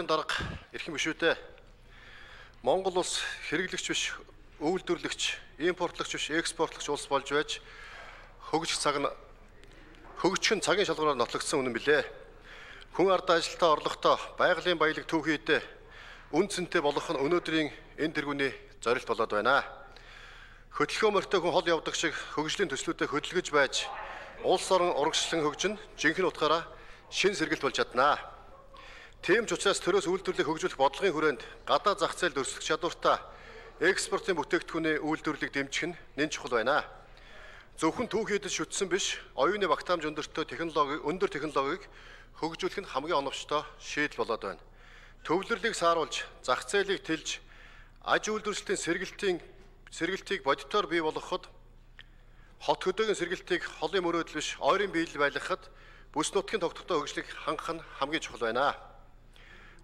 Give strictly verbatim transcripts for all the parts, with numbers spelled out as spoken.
Дарга эрхэм гишүүдээ Монгол улс хэрэглэгч биш, үйлдвэрлэгч, импортлогч биш, экспортлогч улс болж байж хөгжих цаг нь хөгжих нь цагийн шалгуураар нотлогдсон үнэн билээ. Хүн ард ажилтаа орлоготой байгалийн баялаг түүхийдээ үн цэнтэй болох нь өнөөдрийн энэ тэргүүний зорилт болоод байна. Хөдөлгөөн морьтой хүн хол явдаг шиг хөгжлийн төслүүдэд хөдөлгөж байж улс орон урагшлан хөгжин жинхэнэ утгаараа шин сэргэлт болж чаднаа. Тийм ч учраас төрөөс үйлдвэрлэлийг хөгжүүлэх бодлогын хүрээнд гадаа зах зээлд өрсөлдөх чадвартай экспортын бүтээгдэхүүний үйлдвэрлэлийг дэмжих нь нэн чухал байна. Зөвхөн түүхийдэд шүтсэн биш, оюуны багтаамж өндөртэй технологи, өндөр технологиг хөгжүүлэх нь хамгийн оновчтой шийдэл болоод байна. Төвлөрлийг сааруулж, зах зээлийг тэлж, аж үйлдвэрлэлийн сэргэлтийн сэргэлтийг бодитоор бий болгоход, хот хөдөөгийн сэргэлтийг холын мөрөөдөл биш, ойрын биелэл байлгахад бүс нутгийн тогтвортой хөгжлийг хангах нь хамгийн чухал байна.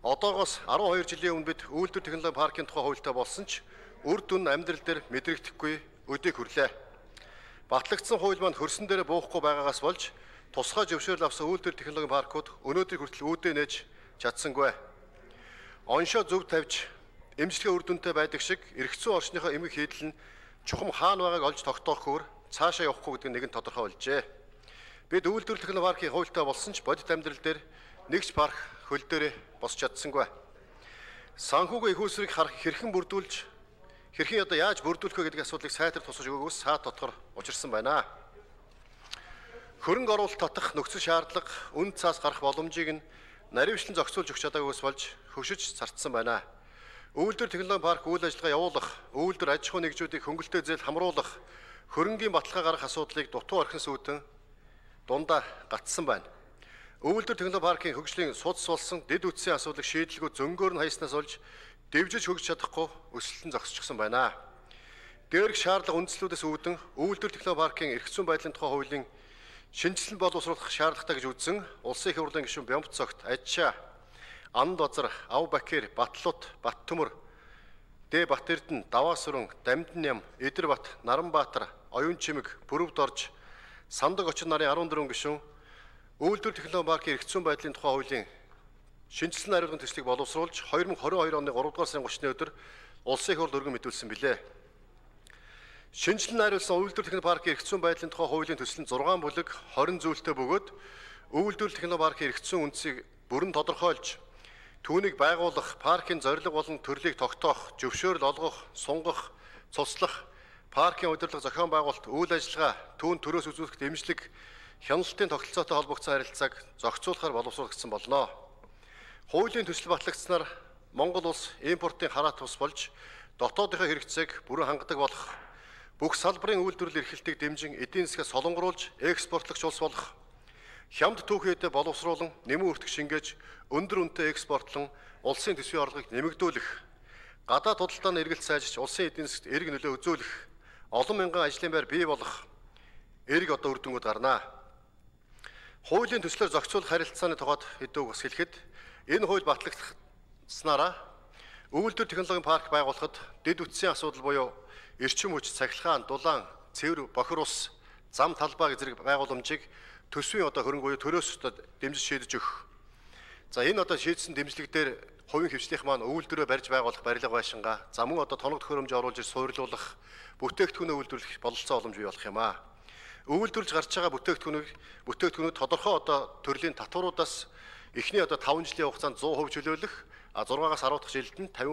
Одоогоос арван хоёр жилийн өмнө бид үйлдвэр технологи паркийн тухай хуультай болсон ч үр дүн амьдрал дээр мэдрэгдэхгүй өдийг хүрлээ. Батлагдсан хууль маань хөрсөн дээр буухгүй байгаагаас болж тусгай зөвшөөрөл авсан үйлдвэр технологи паркууд өнөөдөр хүртэл үүдээ нээж чадсангүй. Оншоо зөв тавьж эмчилгээ үр дүнтэй байдаг шиг эргэцүү орчныхоо эмгэг хийдэл нь чухам хаана байгааг олж тогтоохгүйгээр цаашаа явахгүй гэдэг нь нэгэн тодорхой болжээ. Бид үйлдвэр технологи паркийн хуультай болсон ч бодит амьдрал дээр нэгч парк хөл дээрээ босч чадсангүй. Санхүүгийн их усрыг хэрхэн бүрдүүлж, хэрхэн одоо яаж бүрдүүлэх вэ гэдэг асуудлыг сайтар тусгаж өгөөгөөс саад дотор учирсан байна. Хөрөнгө оруулалт татах нөхцөл шаардлага, үн цаас гарах боломжийг нь наривчлан зохицуулж өгч чадаагүйс болж хөвшиж цартсан байна. Үйлдвэр технологи парк үйл ажиллагаа явуулах, үйлдвэр аж ахуй нэгжүүдийг хөнгөлөлтөө зээл хамруулах, хөрөнгийн баталгаа гарах асуудлыг дутуу орхин сүйдэн дундаа гатсан байна. Үйлдвэр технологи паркийн хөгжлийн судас болсон дэд үтсийн асуудлыг шийдлгүй зөнгөөр нь хаяснаас болж дэвжиж хөгжиж чадахгүй өсөлтөн зогсчихсон байна. Дээрх шаардлага үндслүүдээс үүдэн үйлдвэр технологи паркийн эрх зүйн байдлын тухай хуулийн шинжилсэн боловсруулах шаардлагатай гэж үзсэн Улсын их хурлын гишүүн Бямб цогт Ажчаа, Анд Базар, Ав Бакир, Батлут, Баттөмөр, Дэ Батэрдэн, Даваасүрэн, Дамдын Ям, Идэрбат, Наранбаатар, Оюун Чимэг, Бүрөвд орж, Сандаг очин нарын арван дөрвөн гишүүн үйлдвэр технологи паркийн эрх зүйн байдлын тухай хуулийн шинжилсэн хариуцлагын төслийг боловсруулж две thousand twenty-two оны гурав дугаар сарын thirty-ны өдөр Улсын их хурл өргөн мэдүүлсэн билээ. Шинжилэн хариулсан үйлдвэр технологи паркийн эрх зүйн байдлын тухай хуулийн төсөл нь six бүлэг twenty зүйлтэй бөгөөд үйлдвэр технологи паркийн эрх зүйн үндсийг бүрэн тодорхойлж түүнийг байгуулах, паркийн зорилго болон төрлийг тогтоох, зөвшөөрөл олгох, сунгах, цуслах, паркийн удирдлага зохион байгуулалт, үйл ажиллагаа, түүн төрөөс үзүүлэх дэмжлэг, хяналтын тогтолцоотой холбогдсон харилцааг зохицуулахаар боловсруулагдсан болно. Хуулийн төсөл батлагдсанаар Монгол улс импортын хараат тус болж дотоодынхоо хэрэгцээг бүрэн хангадаг болох, бүх салбарын үйлдвэрлэл эрхлэлтийг дэмжин эдийн засгаа солонгоруулж экспортлогч улс болох, хямд түүхийдээ боловсруулан нэмэн өртөх шингээж өндөр үнэтэй экспортлон улсын төсвийн орлогыг нэмэгдүүлэх, гадаад худалдааны эргэлт сайжирч улсын эдийн засгт эрг нөлөө үзүүлэх, олон мянган ажлын байр бий болох эрг одоо үр дүнгууд гарнаа. Хуулийн төслөөр зохицуулах харилцааны тухайд хэдүү бас хэлэхэд энэ хууль батлагдсанараа үйлдвэр технологийн парк байгуулахад дэд үтсийн асуудал буюу эрчим хүч, цахилгаан, дулаан, цэвэр, бохир ус, зам талбай зэрэг байгууламжийг төсвийн одоо хөрөнгө буюу төрөөс одоо дэмжиж шийдэж өгөх. За энэ одоо шийдсэн дэмжлэг дээр хувийн хвшлийнх маань үйлдвэрөө барьж байгуулах барилга байшингаа, за мөн одоо тоног төхөөрөмж оруулж суйрлуулах, бүтээгдэхүүнээ үйлдвэрлэх бололцоо боломж бий болох юм аа. Үйлдвэрлэж гарч байгаа бүтээгдэхүүнийг бүтээгдэхүүнүүд тодорхой одоо төрлийн татваруудаас эхний одоо five жилийн хугацаанд one hundred percent чөлөөлөх, а six-аас ten дахь жилд нь fifty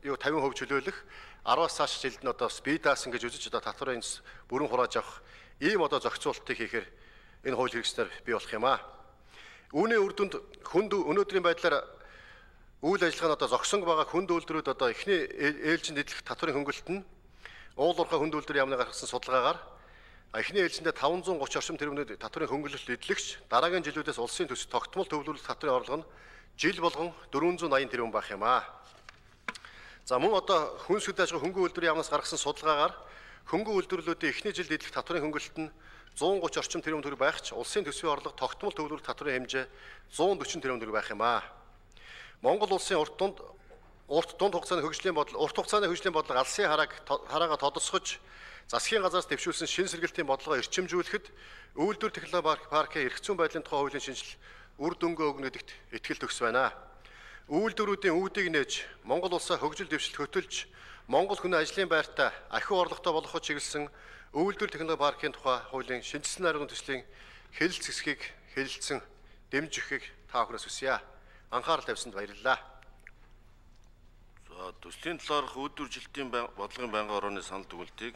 юу fifty percent чөлөөлөх, ten-аас цааш жилд нь одоо спидаасан гэж үзэж одоо татварын бүрэн хурааж авах ийм одоо зохицуултыг хийхээр энэ хууль хэрэгжснээр бий болох юм аа. Үүний үр дүнд хүнд өнөөдрийн байдлаар үйл ажиллагаа нь одоо зогсон байгаа хүнд үйлдвэрүүд одоо эхний ээлжинд эдлэх татварын хөнгөлөлт нь уул уурхай хүнд үйлдвэрийн яамны гаргасан судалгаагаар эхний ээлжиндээ five hundred thirty орчим тэрбумд татварын хөнгөлөлт эдлэгч дараагийн жилүүдээс улсын төсөв тогтмол төвлөрүүлэлт татварын орлого нь жил болгон four hundred eighty тэрбум байх юм аа. За мөн одоо хүнс хөдөлж байгаа хөнгөн үйлдвэрийн яамнаас гаргасан судалгаагаар хөнгөн үйлдвэрлэлүүдийн эхний жилд эдлэх татварын хөнгөлөлт нь one hundred thirty орчим тэрбум төгрөг байх ч улсын төсвийн орлого тогтмол төвлөрүүлэлт татварын хэмжээ one hundred forty тэрбум төгрөг байх юм аа. Монгол улсын урт дунд урт дунд хугацааны хөгжлийн бодлого урт хугацааны хөгжлийн бодлого алсын харааг хараагаа тодосгож засгийн газраас дэвшүүлсэн шин сэргэлтийн бодлогоо эрчимжүүлэхэд үйлдвэр технологи паркийн эрх зүйн байдлын тухай хуулийн шинжил үр дүнгээ өгнө гэдэгт итгэл төгс байна. Үйлдвэрүүдийн үүдийг нээж Монгол улсаа хөгжил дэвшилт хөтөлж Монгол хүний ажлын байртаа ахиу орлоготой болгоход чиглэсэн үйлдвэр технологи паркийн тухай хуулийн шинжилсэн аргын төслийн хэлэлц хэсгийг хэлэлцсэн дэмжих өгөхийг та бүхнээс хүсье. Анхаарал тавьсанд баярлалаа. За төслийн талаарх үйлдвэржилтийн бодлогын байнгын орооны санал дүгнэлтийг